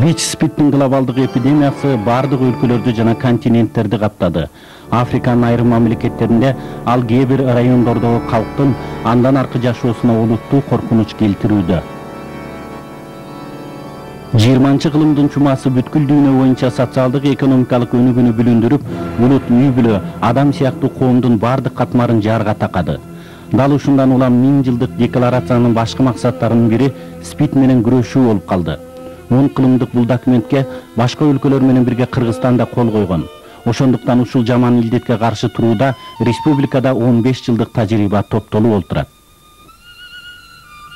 ВИЧ-спидтин глобалдык эпидемиясы бардык өлкөлөрдү жана континенттерди каптады. Африканын айрым мамлекеттеринде ал кээ бир райондордогу калктын андан аркы жашоосуна олуттуу коркунуч келтирүүдө. 20-кылымдын чумасы бүткүл дүйнө боюнча социалдык экономикалык өнүгүүнү бүлүндүрүп, улут, үй бүлө, адам сыяктуу коомдун бардык катмарын жаарга такады. Дал ушундан улам 1000 жылдык декларациянын башкы максаттарынын бири СПИД менен күрөшүү болуп калды. 10 кылымдык бул документке башка өлкөлөр менен бирге Кыргызстан да кол койгон. Ошондуктан ушул жаман илдетке каршы турууда республикада 15 жылдык тажрыйба топтолуп олтурат.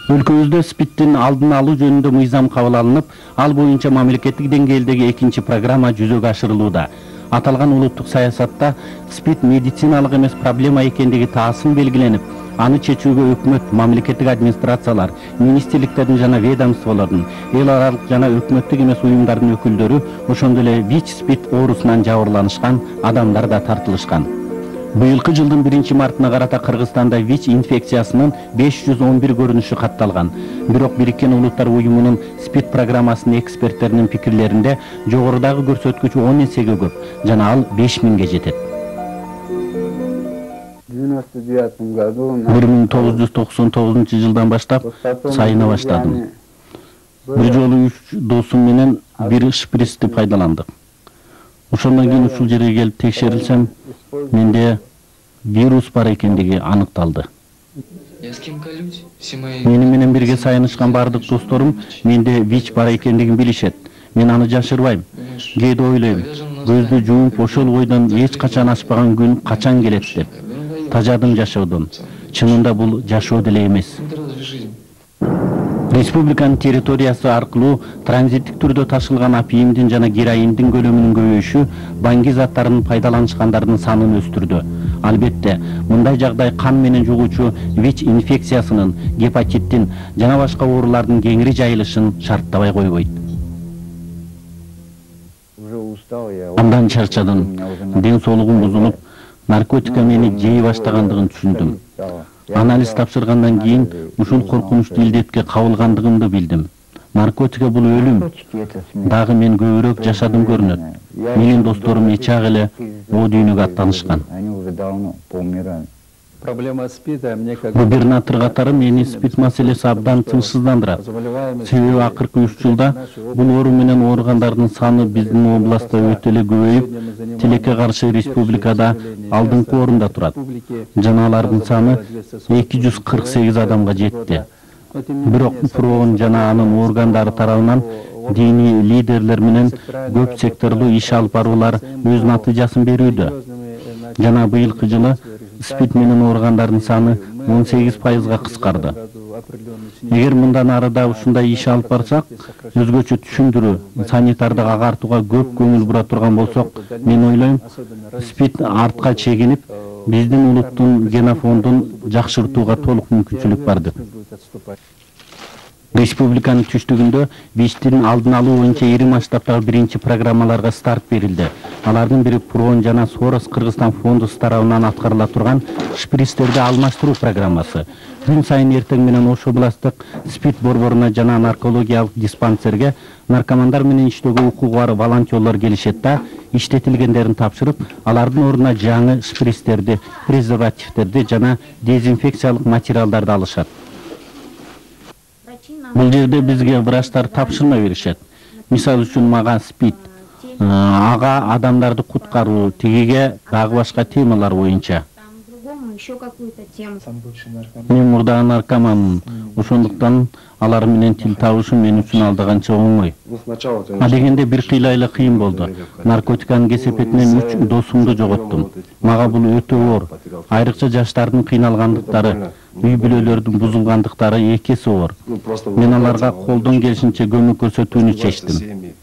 Өлкөбүздө СПИДтин алдын алуу жөнүндө мыйзам кабыл алынып, ал боюнча мамлекеттик деңгээлдеги 2-чи программа жүзөгө ашырылууда. Аталган улуттук саясатта СПИД медициналык эмес проблема экендиги таасын белгиленип, аны чечүүгө өкмөт, мамлекеттик администрациялар, министрликтердин жана ведомстволордун, эл аралык жана өкмөттүк эмес уюмдардын өкүлдөрү, ошондой эле ВИЧ-спид оорусунан жабырланышкан адамдар да тартылышкан. Быйылкы жылдын 1-мартына карата Кыргызстанда ВИЧ инфекциясынын 511 көрүнүшү катталган. Бирок Бириккен Улуттар Уюмунун СПИД программасынын эксперттеринин пикирлеринде жогорудагы көрсөткүч 10 эсеге көп жана ал 5000ге жетет. 1999 жылдан баштап сайына баштадым. Бир жолу 3 досум менен бир шприцти пайдаландык. Ошондон кийин ушул жерге келип текшерилсем, менде вирус бар экендиги аныкталды. Мени менен бирге сайынышкан бардык досторум менде ВИЧ бар экендигин билишет. Мен аны жашырбайм. Кээде ойлойм, көздү жумуп ошол бойдон эч качан ачпаган күн качан келет деп. Тажадым жашоодон. Чынында бул жашоо деле эмес. Республиканын территориясы аркылуу транзиттик түрдө ташылган апиимдин жана героиндин көлөмүнүн көбөйүшү банги заттарын пайдаланышкандардын санын өстүрдү. Албетте, мындай жагдай кан менен жугуучу ВИЧ инфекциясынын, гепатиттин жана башка оорулардын кеңири жайылышын шарттабай койбойт. Андан чарчадым, ден соолугум бузулуп, наркотика мени жей баштагандыгын түшүндүм. Анализ тапшыргандан кийин ушул коркунучтуу илдетке кабылгандыгымды билдим. Наркотика бул өлүм. Дагы мен көбүрөөк жашадым көрүнөт. Менин досторум эчак эле о дүйнөгө аттанышкан. Губернатор катары мени СПИД маселеси абдан тынчсыздандырат. Себеби акыркы 3 жылда бул оору менен ооругандардын саны биздин областта өтө эле көбөйүп, тилекке каршы республикада алдыңкы орунда турат. Жана алардын саны 248 адамга жетти. Бирок ПРОнун жана анын органдары тарабынан диний лидерлер менен көп секторлуу иш алып баруулар өз натыйжасын берүүдө. Жана быйылкы жылы СПИД менен ооругандардын саны 18%га кыскарды. Эгер мындан ары да ушундай иш алып барсак, өзгөчө түшүндүрүү, санитардык агартууга көп көңүл бура турган болсок, мен ойлойм, СПИД артка чегинип, биздин улуттун генофондун жакшыртууга толук мүмкүнчүлүк бар деп. Республиканын түштүгүндө ВИЧтин алдын алуу боюнча ири масштабтагы 1-чи программаларга старт берилди. Алардын бири ПРОн жана Сорос Кыргызстан фондусу тарабынан аткарыла турган шприцтерди алмаштыруу программасы. Күн сайын эртең менен Ош областтык СПИД борборуна жана наркологиялык диспансерге наркомандар менен иштөөгө укугу бар волонтерлор келишет да, иштетилгендерин тапшырып, алардын ордуна жаңы шприцтерди, презервативдерди жана дезинфекциялык материалдарды алышат. Бул жерде бизге врачтар тапшырма беришет. Мисалы үчүн мага СПИД, ага адамдарды куткаруу, тигиге дагы башка темалар боюнча. Мен мурдагы наркоманмын, ошондуктан алар менен тил табышуу мен үчүн алда канча оңой. А дегенде бир кыйлайлы кыйын болду. Наркотиканын кесепетинен 3 досумду жоготтум. Мага бул өтө оор. Айрыкча жаштардын кыйналгандыктары, үй бүлөлөрдүн бузулгандыктары экеси оор. Мен аларга колдон келишинче көмөк көрсөтүүнү чечтим.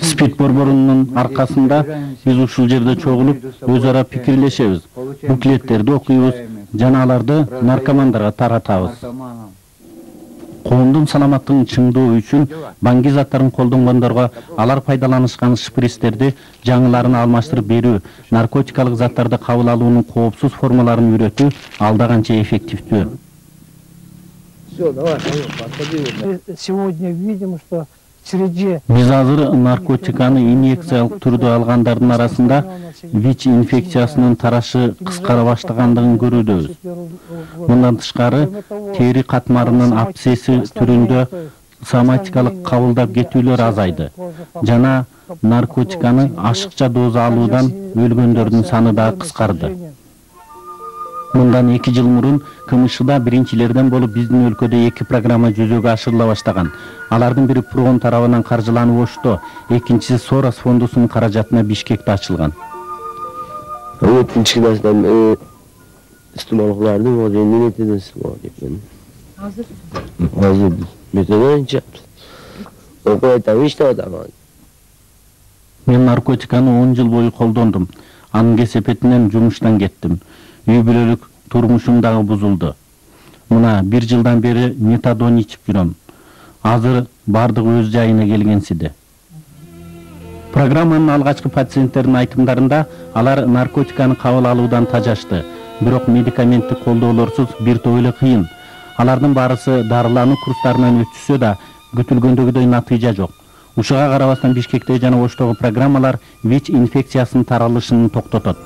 СПИД борборунун аркасында биз ушул жерде чогулуп, өз ара пикирлешебиз, буклеттерди окуйбуз, жана аларды наркомандарга таратабыз. Коомдун саламаттыгын чыңдоо үчүн банги заттарын колдонгондорго алар пайдаланышкан шприцтерди жаңыларын алмаштырып берүү, наркотикалык заттарды кабыл алуунун коопсуз формаларын үйрөтүү алда канча эффективдүү. Все, давай, подходи. Сегодня видим, что Биз азыр наркотиканы инъекциялык түрдө алгандардын арасында ВИЧ инфекциясынын тарашы кыскара баштагандыгын көрүүдөбүз. Мындан тышкары, тери катмарынын абсцесси түрүндө соматикалык кабылдап кетүүлөр азайды жана наркотиканы ашыкча доза алуудан өлгөндөрдүн саны да кыскарды. Мындан 2 жыл мурун КМШда биринчилерден болуп биздин өлкөдө 2 программа жүзөгө ашырыла баштаган. Алардын бири ПРООН тарабынан каржыланып Ошто, экинчиси Сорос фондусунун каражатына Бишкекте ачылган. Кичинекейден истималчылардын өзүнүн нетеден истимал кеткен. Азыр методонча окуй тавишта атаган. Мен наркотиканы 10 жыл бою колдондум. Анын кесепетинен жумуштан кеттим. Үй бүлөлүк турмушум дагы бузулду. Мына 1 жылдан бери метадон ичип жүрөм. Азыр бардыгы өз жайына келгенсиде. Программанын алгачкы пациенттердин айтымдарында алар наркотиканы кабыл алуудан тажашты. Бирок медикаменттик колдоолорсуз бир топ эле кыйын. Алардын баарысы дарылануу курстарынан өтүшсө да күтүлгөндөгүдөй натыйжа жок. Ушуга карабастан Бишкекте жана Оштогу программалар ВИЧ инфекциясынын таралышын токтотот.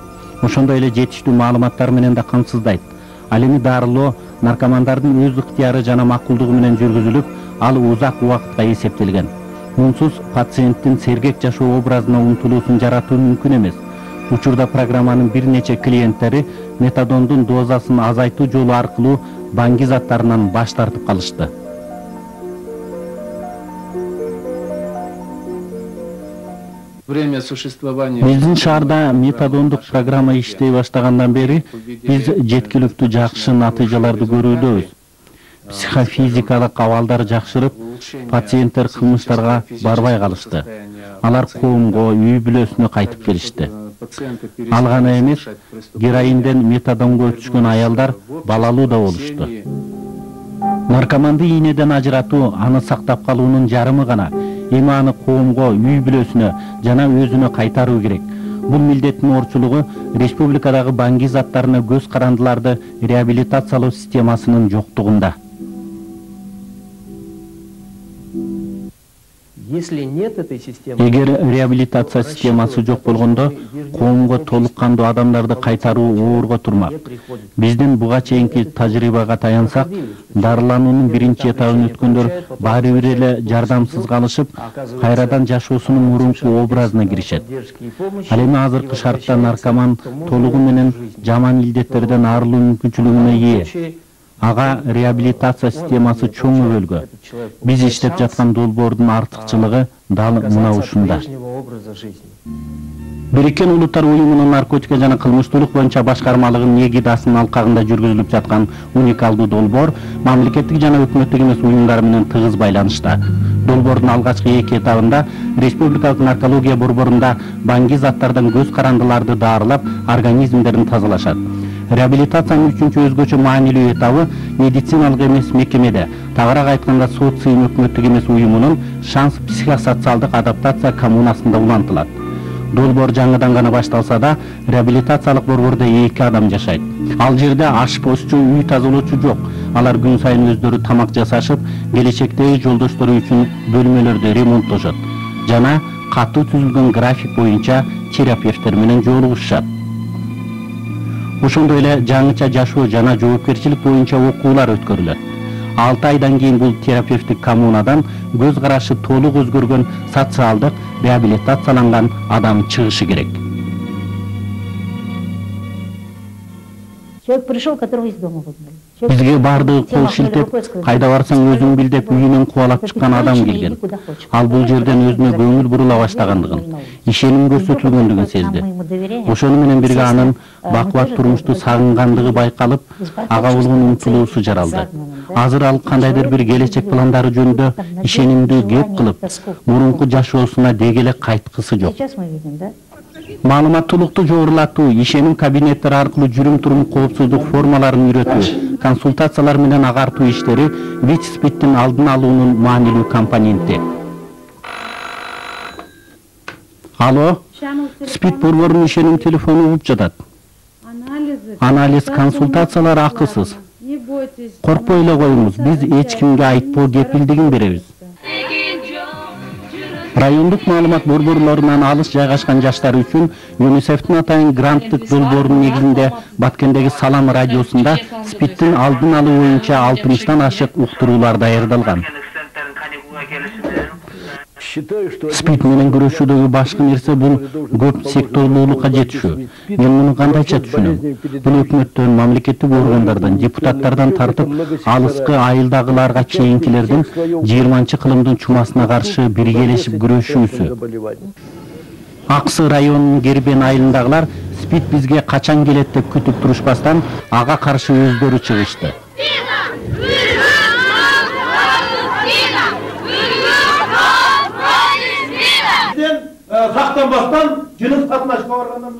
Ошондой эле жетиштүү маалыматтар менен да камсыздайт. Ал эми дарылоо наркомандардын өз ыктыяры жана макулдугу менен жүргүзүлүп, ал узак убакытка эсептелген. Мунсуз пациенттин сергек жашоо образына умтулуусун жаратуу мүмкүн эмес. Учурда программанын бир нече клиенттери метадондун дозасын азайтуу жолу аркылуу баңги заттарынан баш тартып калышты. Биздин шаарда метадондук программа иштей баштагандан бери биз жеткиликтүү жакшы натыйжаларды көрүүдөбүз. Психофизикалык абалдар жакшырып, пациенттер кылмыштарга барбай калышты. Алар коомго, үй бүлөсүнө кайтып келишти. Ал гана эмес, героинден метадонго өтүшкөн аялдар балалуу да болушту. Наркоманды ийнеден ажыратуу, аны сактап калуунун жарымы гана. Эми аны коомго, үй бүлөсүнө жана өзүнө кайтаруу керек. Бул милдеттин орчулугу республикадагы баңги заттарына көз карандыларды реабилитациялоо системасынын жоктугунда. Эгер реабилитация системасы жок болгондо, коомго толук кандуу адамдарды кайтаруу оорго турмак. Биздин буга чейинки тажрыйбага таянсак, дарылануунун биринчи этабын өткөндөр баары бир эле жардамсыз калышып, кайрадан жашоосунун мурунку образына киришет. Ал эми азыркы шартта наркоман толугу менен жаман илдеттерден арылуу мүмкүнчүлүгүнө ээ. Ага реабилитация системасы чоң өбөлгө. Биз иштеп жаткан долбоордун артыкчылыгы дал мына ушунда. Бириккен Улуттар уюмунун наркотика жана кылмыштуулук боюнча башкармалыгынын эгидасынын алкагында жүргүзүлүп жаткан уникалдуу долбоор мамлекеттик жана өкмөттүк эмес уюмдар менен тыгыз байланышта. Долбоордун алгачкы 2 этабында республикалык наркология борборунда баңги заттардан көз карандыларды даарылап, организмдерин тазалашат. Реабилитациянын 3-чү өзгөчө маанилүү этабы медициналык эмес мекемеде, тагыраак айтканда социум өкмөттүк эмес уюмунун шанс психосоциалдык адаптация коммунасында улантылат. Долбоор жаңыдан гана башталса да, реабилитациялык борбордо 2 адам жашайт. Ал жерде ашпозчу, үй тазалоочу жок. Алар күн сайын өздөрү тамак жасашып, келечектеги жолдоштору үчүн бөлмөлөрдү ремонттошот жана катуу түзүлгөн график боюнча терапевттер менен жолугушат. Ошондой эле жаңыча жашоо жана жоопкерчилик боюнча окуулар өткөрүлөт. 6 айдан кийин бул терапевтик коммунадан көз карашы толук өзгөргөн социалдык реабилитацияланган адам чыгышы керек. Человек пришел, которого из дома выгнали. Бизге бардыгы кол шилтеп, кайда барсаң өзүң бил деп үйүнөн кубалап чыккан адам келген. Ал бул жерден өзүнө көңүл бурула баштагандыгын, ишеним көрсөтүлгөндүгүн сезди. Ошону менен бирге анын бакубат турмушту сагынгандыгы байкалып, ага болгон умтулуусу жаралды. Азыр ал кандайдыр бир келечек пландары жөнүндө ишенимдүү кеп кылып, мурунку жашоосуна дегеле кайткысы жок. Маалыматтуулукту жогорулатуу, ишеним кабинеттери аркылуу жүрүм-турум коопсуздук формаларын үйрөтүү, консультациялар менен агартуу иштери ВИЧ-СПИДтин алдын алуунун маанилүү компоненти. Алло, СПИД борборунун ишеним телефону угуп жатат. Анализ, консультациялар акысыз. Коркпой эле коюңуз, биз эч кимге айтпоо кепилдигин беребиз. Райондук маалымат борборлорунан алыс жайгашкан жаштар үчүн ЮНИСЕФтин атайын гранттык долбоорунун негизинде Баткендеги Салам радиосунда СПИДтин алдын алуу боюнча 60тан ашык уктуруулар даярдалган. СПИД менен күрөшүүдөгү башкы нерсе бул көп секторлуулукка жетишүү. Мен муну кандайча түшүнөм? Бул өкмөттөн, мамлекеттик органдардан, депутаттардан тартып, алыскы айылдагыларга чейинкилердин 20-кылымдын чумасына каршы биргелешип күрөшүүсү. Аксы районунун Гербен айылындагылар СПИД бизге качан келет деп күтүп турушпастан ага каршы өздөрү чыгышты. Сактанбастан жыныс катнашка баргандан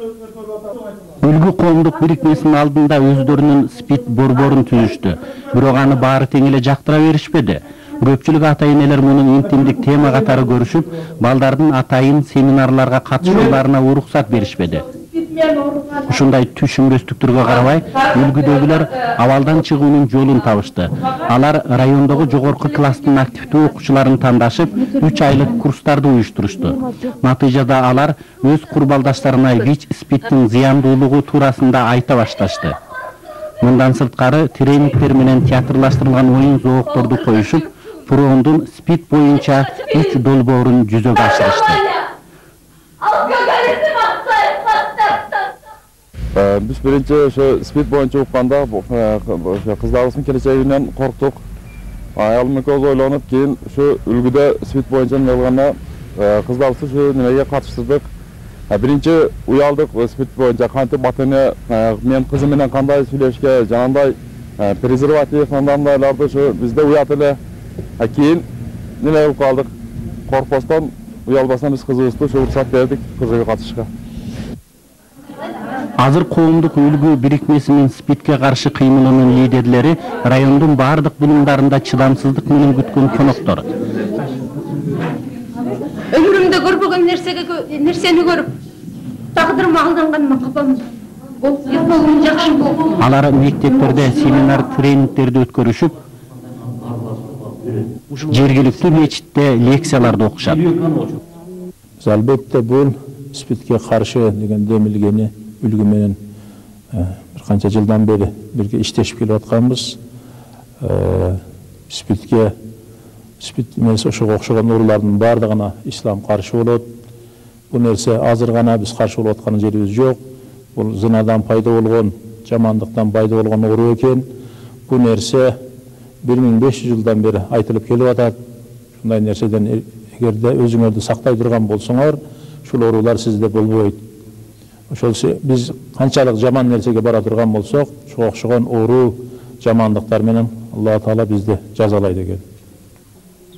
Үлгү коомдук бирикмесинин алдында өздөрүнүн СПИД борборун түзүштү. Бирок аны баары тең эле жактыра беришпеди. Көпчүлүк ата-энелер муну интимдик тема катары көрүшүп, балдардын атайын семинарларга катышууларына уруксат беришпеди. Ушундай түшүнбөстүктөргө карабай, үлгүдөгүлөр абалдан чыгуунун жолун табышты. Алар райондогу жогорку класстын активдүү окуучуларын тандашып, 3 айлык курстарды уюштурушту. Натыйжада алар өз курбалдаштарына ВИЧ-СПИДтин зыяндуулугу туурасында айта башташты. Мындан сырткары тренингтер менен театрлаштырылган оюн зоокторду коюшуп, Пуроондун СПИД боюнча 3 долбоорун жүзөгө ашырышты. Biz birinci şu СПИД boyunca укканда kızlarımızın келечегинен korktuk. Ayalım köz ойлонуп, keyin şu үлгүдө СПИД boyunca yalgana kızlarımızı şu nimege katıştırdık. Birinci uyaldık СПИД boyunca kantip batını men kızım менен kандай сүйлөшкө, жанандай презерватив мындайларды şu bizde uyat эле. Keyin неме кылып калдык? Коркпостон, уялбастан биз кызыбызды şu уруксат бердик кызыга катышка. Азыр коомдук үлгү бирикмесинин СПИДке каршы кыймылынын лидерлери райондун бардык булумдарында чыдамсыздык менен күткөн коноктор. Өмүрүмдө көрбөгөн нерсени көрүп, тагдырыма алданганыма капамын. Болуп жакшы болду. Алар мектептерде семинар тренингтерди өткөрүшүп, жергиликтүү мечитте лекцияларды окушат. Албетте бул СПИДке каршы деген демилгени үлгү менен бир канча жылдан бери бирге иштешип келип атканбыз. СПИД эмес ошого окшогон оорулардын бардыгына ислам каршы болот. Бул нерсе азыр гана биз каршы болуп аткан жерибиз жок. Бул зынадан пайда болгон, жамандыктан пайда болгон оору экен. Бул нерсе 1500 жылдан бери айтылып келип атат. Ушундай нерседен эгерде өзүңөрдү сактай турган болсоңор, ушул оорулар сизде болбойт. Ошол биз канчалык жаман нерсеге бара турган болсок, ошого окшогон оору, жамандыктар менен Алла Таала бизди жазалайт экен.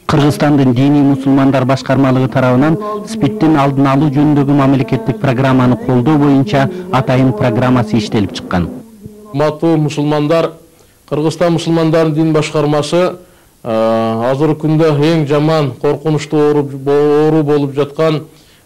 Кыргызстандын диний мусулмандар башкармалыгы тарабынан СПИДтин алдын алуу жөнүндөгү мамлекеттик программаны колдоо боюнча атайын программасы иштелип чыккан. Урматтуу мусулмандар, Кыргызстан мусулмандарынын дин башкармасы азыркы күндө эң жаман, коркунучтуу оору болуп жаткан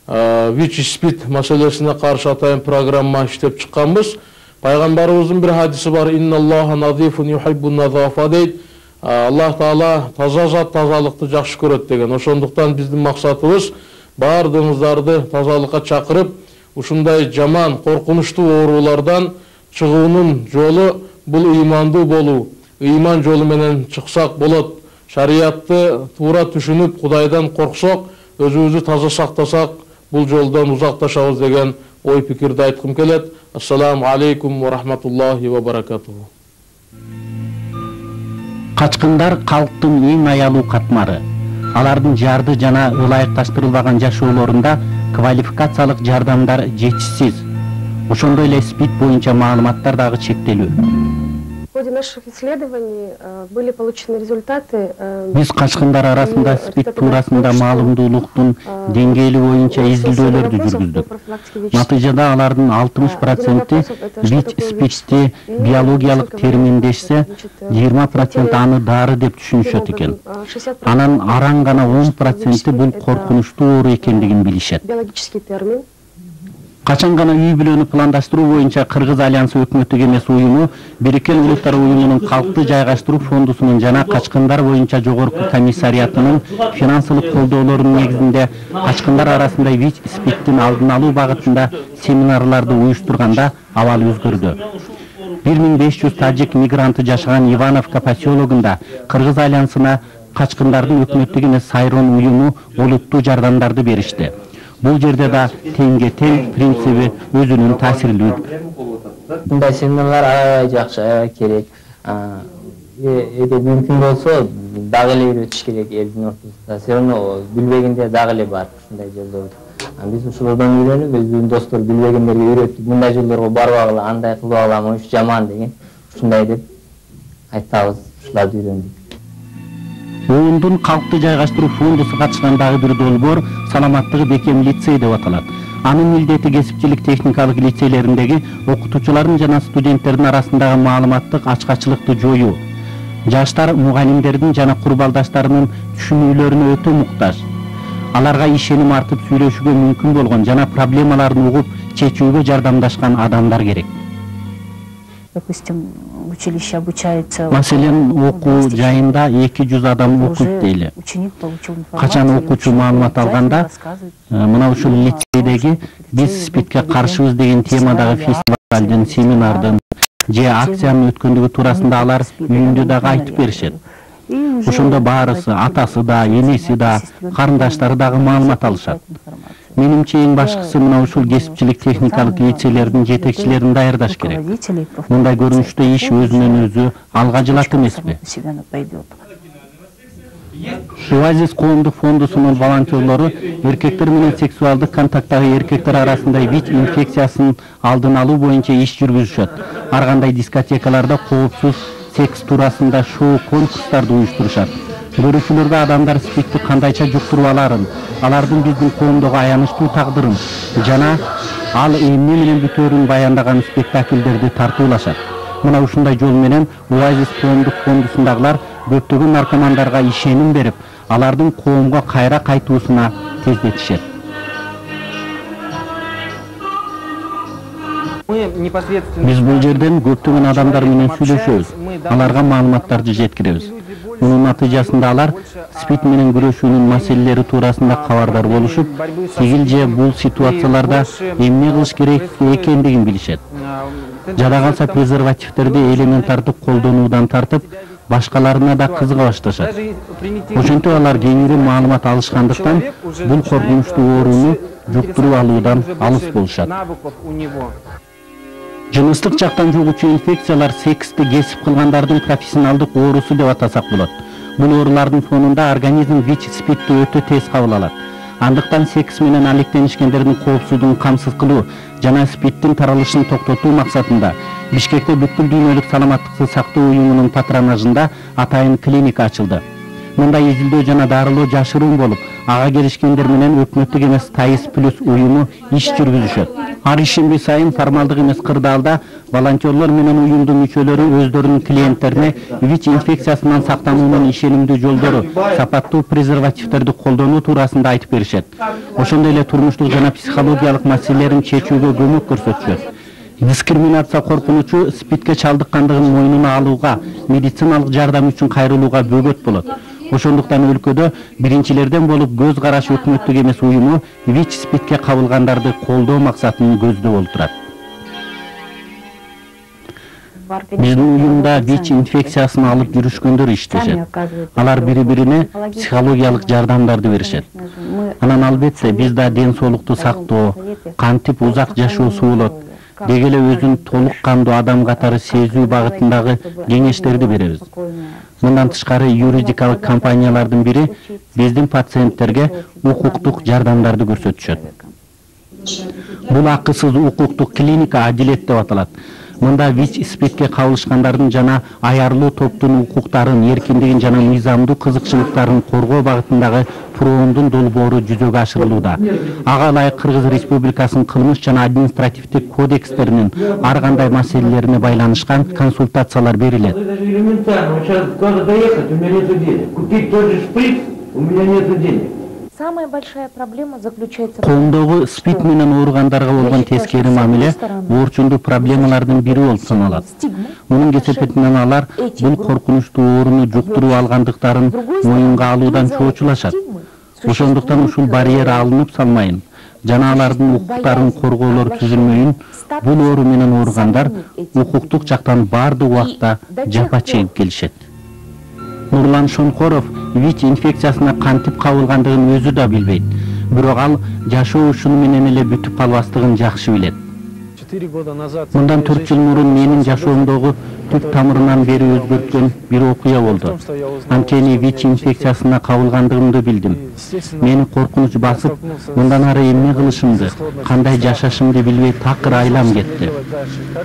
ВИЧ-СПИД маселесине каршы атайын программа иштеп чыкканбыз. Пайгамбарыбыздын бир хадиси бар: "Инналлаха назифун юхиббун назафа" дейт. Аллах Таала таза зат тазалыкты жакшы көрөт деген. Ошондуктан биздин максатыбыз баардыгыңыздарды тазалыкка чакырып, ушундай жаман, коркунучтуу оорулардан чыгуунун жолу бул ыймандуу болуу. Ыйман жолу менен чыксак болот. Шариятты туура түшүнүп, Кудайдан корксок, өзүбүздү таза сактасак, бул жолдон узакташабыз деген ой пикирди айткым келет. Ассаламу алейкум ва рахматуллахи ва баракатуху. Качкындар калктын эң аялуу катмары. Алардын жарды жана ылайыкташтырылбаган жашоолорунда квалификациялык жардамдар жетишсиз. Ошондой эле СПИД боюнча маалыматтар дагы чектелүү. В ходе наших исследований были получены результаты. Биз качкындар арасында СПИД туурасында маалымдуулуктун деңгээли боюнча изилдөөлөрдү жүргүздүк. Натыйжада алардын 60% ВИЧ-СПИДти биологиялык терминдешсе, 20% аны дары деп түшүнүшөт экен. Анан аран гана 10% бул коркунучтуу оору экендигин билишет. Биологический термин. Качан гана үй бүлөнү пландаштыруу боюнча Кыргыз альянсы өкмөттүк эмес уюму Бириккен Улуттар уюмунун калкты жайгаштыруу фондусунун жана качкындар боюнча жогорку комиссариатынын финансылык колдоолорунун негизинде качкындар арасында ВИЧ-СПИДтин алдын алуу багытында семинарларды уюштурганда абал өзгөрдү. 1500 тажик мигранты жашаган Ивановка поселогунда Кыргыз альянсына качкындардын өкмөттүк эмес Сайрон уюму олуттуу жардамдарды беришти. Бул жерде да теңге тең принциби өзүнүн таасирлүү. Мындай семинарлар аябай жакшы, аябай керек. Эгер мүмкүн болсо дагы эле үйрөтүш керек элдин ортосунда. Все равно билбегенде дагы эле бар ушундай жолдор. Биз ушулардан үйрөнүп, өзүбүздүн достор билбегендерге үйрөтүп, мындай жолдорго барбагыла, андай кылбагыла, могу жаман деген ушундай деп айтабыз, ушуларды үйрөндүк. ООНдун калкты жайгаштыруу фондусу катышкан дагы бир долбоор саламаттыгы бекем лицей деп аталат. Анын милдети кесипчилик техникалык лицейлериндеги окутуучулардын жана студенттердин арасындагы маалыматтык ачкачылыкты жоюу. Жаштар мугалимдердин жана курбалдаштарынын түшүнүүлөрүнө өтө муктаж. Аларга ишеним артып сүйлөшүүгө мүмкүн болгон жана проблемаларын угуп чечүүгө жардамдашкан адамдар керек. Допустим, училище обучается. Маселен, окуу жайында 200 адам окуйт дейли. Качан окуучу маалымат алганда, мына ушул лицейдеги биз СПИДке каршыбыз деген темадагы фестивалдын, семинардын же акциянын өткөндүгү туурасында алар үйүндө дагы айтып беришет. Ошондо баарысы, атасы да, энеси да, карындаштары дагы маалымат алышат. Менимче эң башкысы мына ушул кесипчилик техникалык лицейлердин жетекчилерин даярдаш керек. Мындай көрүнүштө иш өзүнөн өзү алга жылат эмеспи? Оазис коомдук фондусунун волонтерлору эркектер менен сексуалдык контакттагы эркектер арасында ВИЧ инфекциясын алдын алуу боюнча иш жүргүзүшөт. Ар кандай дискотекаларда коопсуз секс туурасында шоу конкурстарды уюштурушат. Көрүүчүлөргө адамдар СПИДти кандайча жуктуруп аларын, алардын биздин коомдогу аянычтуу тагдырын жана ал эмне менен бүтөөрүн баяндаган спектакльдерди тартуулашат. Мына ушундай жол менен Оазис коомдук фондусундагылар көптөгөн наркомандарга ишеним берип, алардын коомго кайра кайтуусуна тездетишет. Биз бул жерден көптөгөн адамдар менен сүйлөшөбүз, аларга маалыматтарды жеткиребиз. Мунун натыйжасында алар СПИД менен күрөшүүнүн маселелери туурасында кабардар болушуп, тигил же бул ситуацияларда эмне кылыш керек экендигин билишет. Жада калса презервативтерди элементардык колдонуудан тартып, башкаларына да кызыга башташат. Ошентип алар кеңири маалымат алышкандыктан бул коркунучтуу ооруну жуктуруп алуудан алыс болушат. Жыныстык жактан жугуучу инфекциялар сексти кесип кылгандардын профессионалдык оорусу деп атасак болот. Бул оорулардын фонунда организм ВИЧ-СПИДти өтө тез кабыл алат. Андыктан секс менен алектенишкендердин коопсуздугун камсыз кылуу жана СПИДтин таралышын токтотуу максатында Бишкекте бүткүл дүйнөлүк саламаттыкты сактоо уюмунун патронажында атайын клиника ачылды. Мында изилдөө жана дарылоо жашыруун болуп, ага келишкендер менен өкмөттүк эмес ТАИС плюс уюму иш жүргүзүшөт. Ар ишемби сайын формалдык эмес кырдаалда волонтерлор менен уюмдун мүчөлөрү өздөрүнүн клиенттерине ВИЧ инфекциясынан сактануунун ишенимдүү жолдору, сапаттуу презервативтерди колдонуу туурасында айтып беришет. Ошондой эле турмуштук жана психологиялык маселелерин чечүүгө көмөк көрсөтүшөт. Дискриминация коркунучу СПИДке чалдыккандыгын мойнуна алууга, медициналык жардам үчүн кайрылууга бөгөт болот. Ошондуктан өлкөдө биринчилерден болуп көз караш өкмөттүк эмес уюму ВИЧ-СПИДке кабылгандарды колдоо максатын көздөп олтурат. Биздин уюмда ВИЧ инфекциясын алып жүрүшкөндөр иштешет. Алар бири-бирине психологиялык жардамдарды беришет. Анан албетте биз да ден соолукту сактоо, кантип узак жашоосу болот, деги эле өзүн толук кандуу адам катары сезүү багытындагы кеңештерди беребиз. Мындан тышкары юридикалык компаниялардын бири биздин пациенттерге укуктук жардамдарды көрсөтүшөт. Бул акысыз укуктук клиника Адилет деп аталат. Мында ВИЧ-СПИДке кабылышкандардын жана аярлуу топтун укуктарын, эркиндигин жана мыйзамдуу кызыкчылыктарын коргоо багытындагы проондун долбоору жүзөгө ашырылууда. Ага ылайык Кыргыз Республикасынын кылмыш жана административдик кодекстеринин ар кандай маселелерине байланышкан консультациялар берилет. самая большая проблема заключается Коомдогу СПИД менен ооругандарга болгон тескери мамиле оорчулдуу проблемалардын бири болуп саналат. Мунун кесепетинен алар бул коркунучтуу ооруну жуктуруп алгандыктарын моюнга алуудан чоочулашат. Ошондуктан ушул барьер алынып салмайын жана алардын укуктарын коргоолор түзүлмөйүн, бул оору менен ооругандар укуктук жактан баардык убакта жапа чегип келишет. Нурлан Шонкоров ВИЧ инфекциясына кантип кабылгандыгын өзү да билбейт. Бирок ал жашоо ушуну менен эле бүтүп калбастыгын жакшы билет. Мындан 4 жыл мурун менин жашоомдогу түп тамырынан бери өзгөрткөн бир окуя болду. Анткени ВИЧ инфекциясына кабылгандыгымды билдим. Мени коркунуч басып, мындан ары эмне кылышымды, кандай жашашымды билбей такыр айлам кетти.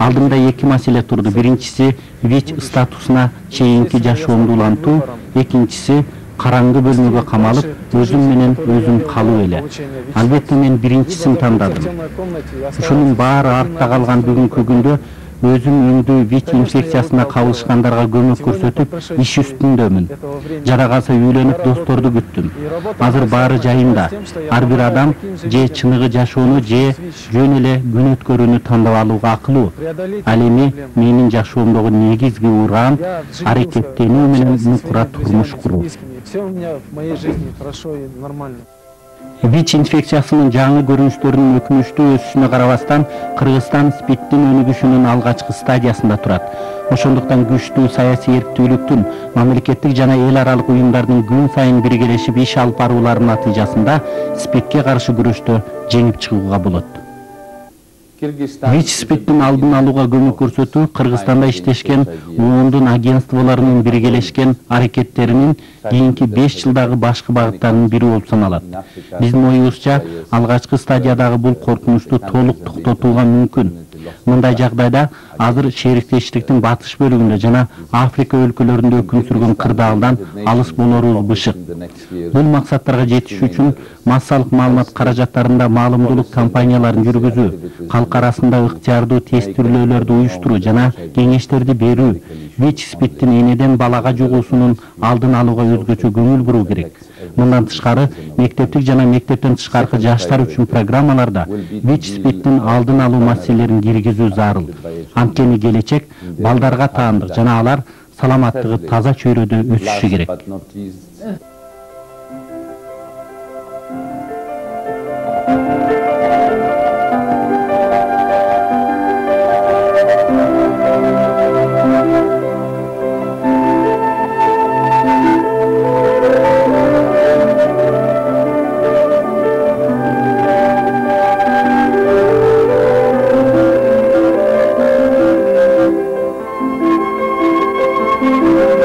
Алдымда эки маселе турду. Биринчиси ВИЧ статусуна чейинки жашоомду улантуу, экинчиси караңгы бөлмөгө камалып, өзүм менен өзүм калуу эле. Албетте мен биринчисин тандадым. Ушунун баары артта калган бүгүнкү күндө өзүм өңдүү ВИЧ инфекциясына кабылышкандарга көмөк көрсөтүп, иш үстүндөмүн. Жада калса үйлөнүп досторду күттүм. Азыр баары жайымда. Ар бир адам же чыныгы жашоону же жөн эле күн өткөрүүнү тандап алууга акылуу. Ал эми менин жашоомдогу негизги ураан аракеттенүү менен мукура турмуш куруу. Все у меня в моей жизни хорошо и нормально. ВИЧ инфекциясынын жаңы көрүнүштөрүнүн өкүнүчтүү өсүшүнө карабастан, Кыргызстан СПИДтин өнүгүшүнүн алгачкы стадиясында турат. Ошондуктан күчтүү саясий эрктүүлүктүн, мамлекеттик жана эл аралык уюмдардын күн сайын биргелешип иш алып барууларынын натыйжасында СПИДке каршы күрөштө жеңип чыгууга болот. ВИЧ СПИДтин алдын алууга көмөк көрсөтүү Кыргызстанда иштешкен ООНдун агентстволорунун биргелешкен аракеттеринин кийинки 5 жылдагы башкы багыттарынын бири болуп саналат. Биздин оюбузча, алгачкы стадиядагы бул коркунучту толук токтотууга мүмкүн. Мындай жагдайда азыр шериктештиктин батыш бөлүгүндө жана Африка өлкөлөрүндө өкүм сүргөн кырдаалдан алыс болорубуз бышык. Бул максаттарга жетиш үчүн массалык маалымат каражаттарында маалымдуулук кампанияларын жүргүзүү, калк арасында ыктыярдуу тестирлөөлөрдү уюштуруу жана кеңештерди берүү, ВИЧ СПИДтин энеден балага жугуусунун алдын алууга өзгөчө көңүл буруу керек. Мындан тышкары, мектептик жана мектептен тышкаркы жаштар үчүн программаларда ВИЧ СПИДтин алдын алуу маселелерин киргизүү зарыл. Анткени келечек балдарга таандык жана алар саламаттыгы таза чөйрөдө өсүшү керек. Thank you.